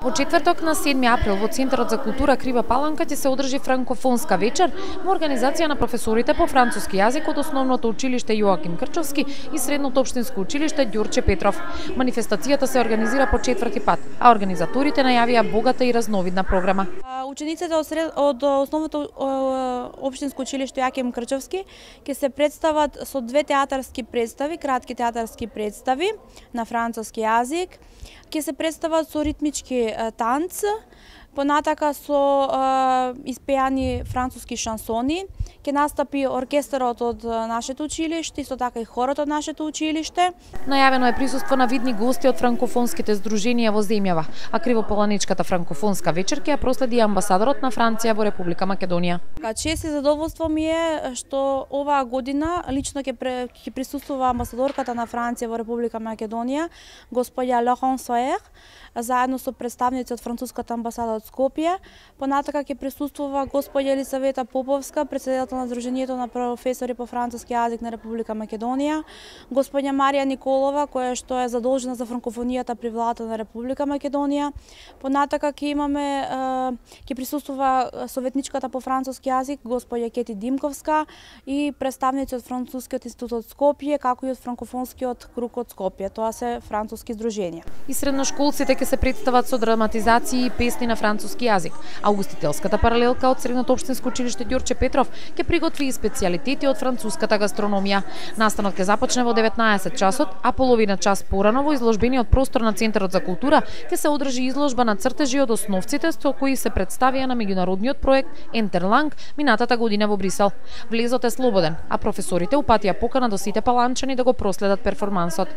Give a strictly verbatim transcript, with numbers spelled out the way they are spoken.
Во четврток на седми април во Центарот за култура Крива Паланка ќе се одржи франкофонска вечер во организација на професорите по француски јазик од Основното училиште Јоаким Крчовски и Средното општинско училиште Ѓурче Петров. Манифестацијата се организира по четврти пат, а организаторите најавија богата и разновидна програма. Учениците од, сред... од Основното општинско училиште Јоаким Крчовски ќе се представат со две театарски представи, кратки театарски представи на француски јазик. Ќе се представат со ритмички танц, понатака со е, испејани француски шансони. Ќе настапи оркестарот од нашето училиште, исто така и хорот од нашето училиште. Најавено е присуство на видни гости од франкофонските здруженија во земјава, а Кривополаничката франкофонска вечер ќе ја проследи амбасадорот на Франција во Република Македонија. Чест и задоволство ми е што оваа година лично ќе ќе присуствува амбасадорката на Франција во Република Македонија, господја Лоран Соер, заедно со представници од француската амбасада од Скопје. Понатака ќе присуствува господја Елисавета Поповска, председател на Сдруженијето на професори по француски јазик на Република Македонија, господја Марија Николова, која што е задолжена за франкофонијата при владата на Република Македонија. Понатака ќе имаме ќе присуствува советничката по француски јазик господја Кети Димковска и представници од Францускиот институт од Скопје, како и од франкофонскиот круг од Скопје. Тоа се француски здруженија. И средношколците ќе се представат со драматизации и песни на француски јазик, а угостителската паралелка од Средното општинско училиште Ѓурче Петров ќе приготви и специјалитети од француската гастрономија. Настанот ќе започне во деветнаесет часот, а половина час порано во изложбениот простор на Центарот за култура ќе се одржи изложба на цртежи од основците со кои се представија на меѓународниот проект Ентерланг минатата година во Брисел. Влезот е слободен, а професорите упатија покана до сите паланчани да го проследат перформансот.